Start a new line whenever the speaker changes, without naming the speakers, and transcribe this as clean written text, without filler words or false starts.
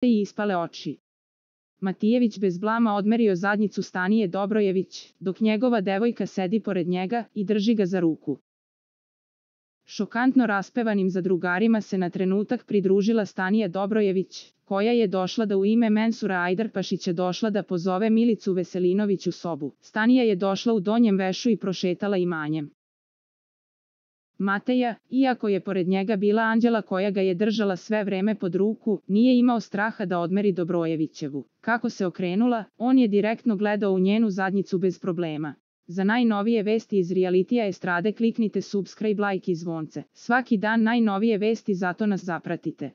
i ispale oči. Matijević bez blama odmerio zadnjicu Stanije Dobrojević, dok njegova devojka sedi pored njega i drži ga za ruku. Šokantno raspevanim zadrugarima se na trenutak pridružila Stanija Dobrojević, koja je došla da u ime Mensura Ajdarpašića došla da pozove Milicu Veselinović u sobu. Stanija je došla u donjem vešu i prošetala imanjem. Mateja, iako je pored njega bila Anđela koja ga je držala sve vreme pod ruku, nije imao straha da odmeri Dobrojevićevu. Kako se okrenula, on je direktno gledao u njenu zadnjicu bez problema. Za najnovije vesti iz realitija estrade kliknite subscribe, like i zvonce. Svaki dan najnovije vesti, zato nas zapratite.